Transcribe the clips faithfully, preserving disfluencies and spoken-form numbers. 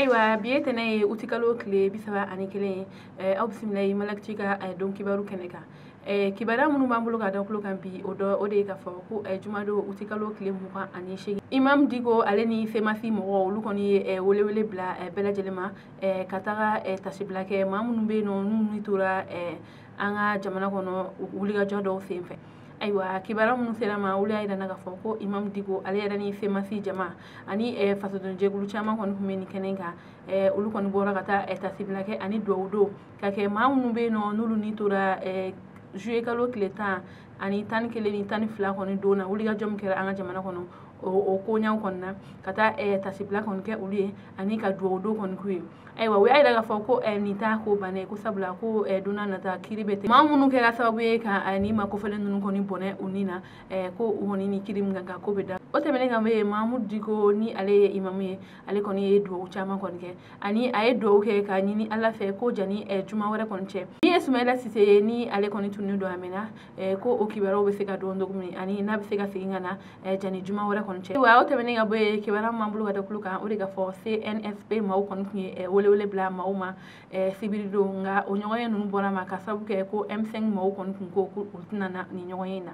Ayiwa, bi ye tɛnɛ ye, utikalo tile bi saba ani kelen ye. Aw bisimila ye Malakiti ka don kibaru kɛnɛ kan. Kibaruya minnu b'an bolo ka da tulo kan bi, o dɔ o de ye k'a fɔ ko jumadon utikalo tile mugan ani seegin, Imam Diko ale ni C M A S mɔgɔw, olu kɔni ye welewele bila bɛɛ lajɛlen ma ka taga tasibila kɛ maa minnu bɛ yen nɔ, n'u tora an ka jamana kɔnɔ wulikajɔ dɔw sen fɛ. Ayiwa, kibaruya minnu sera ma, olu y'a jira k'a fɔ ko Imam Diko ale yɛrɛ ni C M A S jama ani fasodenjɛkulu caman kɔni tun bɛ nin kɛnɛ kan. Olu kɔni bɔra ka taa tasibila kɛ ani dugawu don ka kɛ maa minnu bɛ yen nɔ, n'olu ni tora juillet kalo tile tan ani tan ni kelen ni tan ni fila kɔni don na, wulikajɔ min kɛra an ka jamana kɔnɔ, o koɲaw kɔni na, ka taa tasibila kɔni kɛ olu ye ani ka dugawu don kɔni k'u ye. Ayiwa, u y'a jira k'a fɔ ko nin t'a ko bannen ko sabula ko don n'a nata kiiri bɛ tigɛ maa minnu kɛra sababu ye ka nin maa kofɔlen ninnu kɔni bɔnɛ u ni na, ko u kɔni ni kiiri min kan ka ko bɛ da. O tɛmɛnen ka bɔ yen, Mahamudu Diko, ni ale ye imamu ye, ale kɔni ye dugawu caman kɔni kɛ ani a ye dugawu kɛ ka ɲini Ala fɛ ko jani juma wɛrɛ kɔni cɛ, min ye Sumayila Sise ye, ni ale kɔni tunnen don a mɛnna, ko o kibaruyaw bɛ se ka dɔn cogo min ani n'a bɛ se ka segin ka na jani juma wɛrɛ kɔni cɛ. Ayiwa, o tɛmɛnen ka bɔ yen, kibaruya min b'an bolo ka da tulo kan, o de ka fɔ C N S P maaw kɔni tun ye welewele bila maaw ma sibiri don, nka o ɲɔgɔnye ninnu bɔra ma ka sababu kɛ ko M cinq maaw kɔni tun ko ko u tɛna na nin ɲɔgɔnye in na.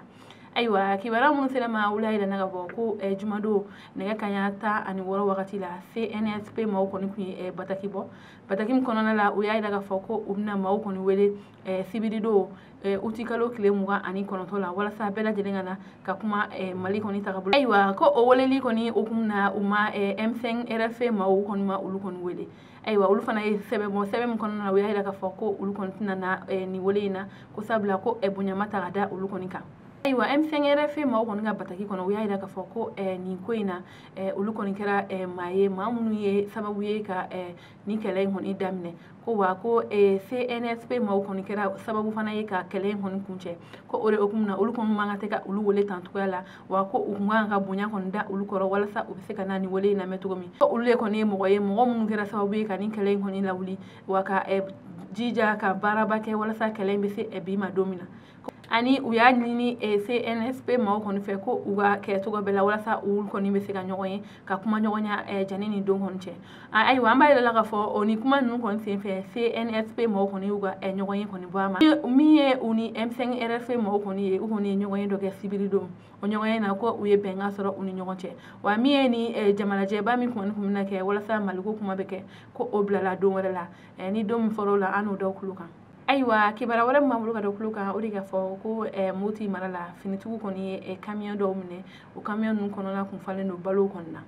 Ayiwa, kibaruya minnu sera ma, olu y'a jira ka bɔ ko jumadon nɛgɛ kanɲɛ tan ani wɔɔrɔ wagati la, C N S P maaw kɔni tun ye bataki bɔ. Bataki min kɔnɔna la, u y'a jira k'a fɔ ko u bɛna maaw kɔni wele sibiridon utikalo tile mugan ani kɔnɔntɔn la, walasa bɛɛ lajɛlen ka na ka kuma Mali kɔni tagabolo. Ayiwa, ko o weleli kɔni hukumu na, u ma M cinq R F maaw kɔni ma olu kɔni wele. Ayiwa, olu fana ye sɛbɛn bɔ. Sɛbɛn min kɔnɔna na, u y'a jira k'a fɔ ko olu kɔni tɛna na nin wele in na, ko sabula ko bonya ma ta ka da olu kɔni kan. Ayiwa, M cinq R F maaw kɔni ka bataki kɔnɔ, u y'a jira k'a fɔ ko nin ko in na, olu kɔni kɛra maa ye, maa minnu ye sababu ye ka nin kɛlɛ in kɔni daminɛ, ko wa ko C N S P maaw kɔni kɛra sababu fana ye ka kɛlɛ in kɔni kuncɛ, ko o de hukumu na, olu kɔni man kan tɛ ka olu wele tan cogoya la, wa ko u kun kan ka bonya kɔni da olu kɔrɔ walasa u bɛ se ka na nin wele in lamɛn cogo min. Ko olu de kɔni ye mɔgɔ ye, mɔgɔ minnu kɛra sababu ye ka nin kɛlɛ in kɔni lawuli, wa ka jija ka baaraba kɛ walasa kɛlɛ in bɛ se bi ma don min na. Ani u y'a ɲini C N S P maaw kɔni fɛ ko u ka kɛ cogo bɛɛ la walasa olu kɔni bɛ se ka ɲɔgɔn ye ka kuma ɲɔgɔnya jani ni don kɔni cɛ. Ayiwa, an b'a yira la k'a fɔ o ni kuma ninnu kɔni senfɛ, C N S P maaw kɔni y'u ka ɲɔgɔn ye kɔni bɔ a ma. Min ye u ni M cinq R F maaw kɔni ye, u kɔni ye ɲɔgɔn ye dɔ kɛ sibiri don. O ɲɔgɔn ye na, ko u ye bɛnkan sɔrɔ u ni ɲɔgɔn cɛ. Wa min ye ni jamanajɛba min kɔni tun bɛna kɛ walasa Maliko kuma bɛ kɛ, ko o bilala don wɛrɛ la. Ni don min fɔra o la, an n'o da tulo kan. Ayiwa, kibaruya wɛrɛ min b'an bolo ka da tulo kan, o de ka fɔ ko Moti mara la, finitigiw kɔni ye kamiyɔn dɔw minɛ. O kamiyɔn ninnu kɔnɔna kun falen don balow kɔni na.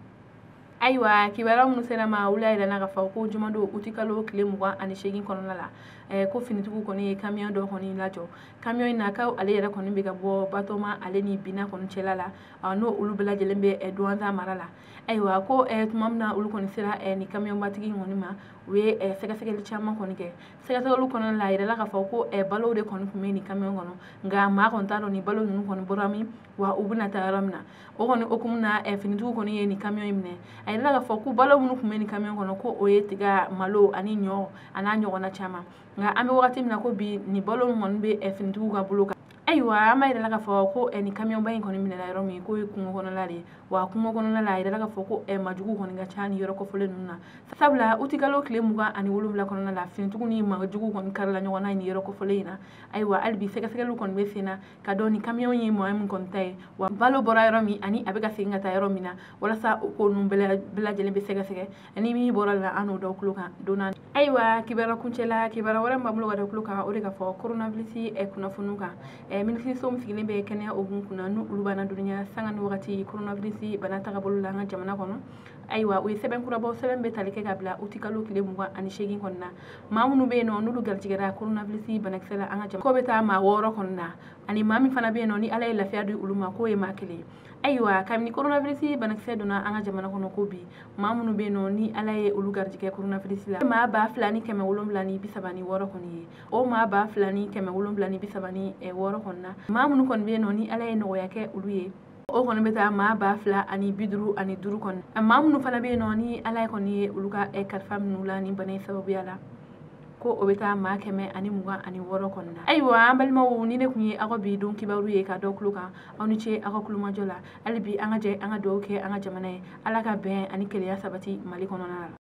Ayiwa, kibaruya minnu sera ma, olu y'a jira k'a fɔ ko jumadon utikalo tile mugan ani seegin kɔnɔna la, ko finitigiw kɔni ye kamiyɔn dɔ kɔni lajɔ. Kamiyɔn in na, ko ale yɛrɛ kɔni bɛ ka bɔ Batoma ale ni Bina kɔni cɛla la, n'o olu bɛɛ lajɛlen bɛ Douentza mara la. Ayiwa, ko tuma min na olu kɔni sera nin kamiyɔnbatigi in kɔni ma, u ye sɛgɛsɛgɛli caman kɔni kɛ. Sɛgɛsɛgɛliw kɔnɔna la, a yirala k'a fɔ ko balow de kɔni tun bɛ nin kamiyɔn kɔnɔ, nka maa kɔni t'a dɔn nin balo ninnu kɔni bɔra min, wa u bɛna taa yɔrɔ min na. O kɔni hukumu na, finitigiw kɔni ye nin kamiyɔn in minɛ. A yirala k'a fɔ ko balo minnu tun bɛ nin kamiyɔn kɔnɔ, ko o ye tiga, malo ani ɲɔ a n'a ɲɔgɔnna caman. Nka an bɛ wagati min na ko bi, nin balo min kɔni bɛ finitigiw ka bolo kan. Ayiwa, an b'a yira k'a fɔ ko nin kamiyɔnba in kɔni minɛna yɔrɔ min, k'o ye kungo kɔnɔla de ye. Wa kungo kɔnɔna la, a yirala k'a fɔ ko majugu kɔni ka ca ni yɔrɔ kɔfɔlen ninnu na, sabula utikalo tile mugan ani wolonwula kɔnɔna la, finitigiw ni majugu kɔni karila ɲɔgɔn na nin yɔrɔ kɔfɔlen in na. Ayiwa, hali bi sɛgɛsɛgɛliw kɔni bɛ sen na ka dɔn ni kamiyɔn ye maa min kɔni ta ye, wa balo bɔra yɔrɔ min ani a bɛ ka segin ka taa yɔrɔ min na, walasa o ko ninnu bɛɛ lajɛlen bɛ sɛgɛsɛgɛ. Ni min bɔra la, an n'o da tulo kan don na. Ayiwa, kibaruya kuncɛ la, kibaruya wɛrɛ min b'an bolo ka da tulo kan, o de ka fɔ coronavirus kunnafoniw kan. Minisiriso min sigilen bɛ kɛnɛya hukumu kunna, n'u olu b'an ladɔnniya sanga ni wagati coronavirus bana tagabolo la an ka jamana kɔnɔ, ayiwa, u ye sɛbɛn kura bɔ. Sɛbɛn bɛ tali kɛ ka bila utikalo tile mugan ani seegin kɔni na. Maa minnu bɛ yen nɔ, n'olu garijɛgɛra coronavirus banakisɛ la an ka jamana, k'o bɛ taa maa wɔɔrɔ kɔni na, ani maa min fana bɛ yen nɔ, ni Ala ye lafiya di olu ma, k'o ye maa kelen ye. Ayiwa, kabini coronavirus banakisɛ donna an ka jamana kɔnɔ, ko bi maa minnu bɛ yen nɔ, ni Ala ye olu garijɛgɛ coronavirus la, maa ba fila ni kɛmɛ wolonwula ni bi saba ni wɔɔrɔ kɔni ye. O maa ba fila ni kɛmɛ wolonwula ni bi saba ni wɔɔrɔ kɔni na, maa minnu kɔni bɛ yen nɔ, ni Ala ye nɔgɔya kɛ olu ye, o kɔni bɛ taa maa ba fila ani bi duuru ani duuru kɔni. Maa minnu fana bɛ yen nɔ, ni Ala kɔni ye olu ka kalifa minnu la ni bana in sababuya la, ko o bɛ taa maa kɛmɛ ani mugan ani wɔɔrɔ kɔni na. Ayiwa, an balimaw, ni ne tun ye aw ka bi don kibaru ye ka dɔ tulo kan, aw ni ce aw ka kulomajɔ la. Hali bi, an ka jɛ an ka dugawu kɛ an ka jamana ye, Ala ka bɛn ani kelenya sabati Mali kɔnɔna la.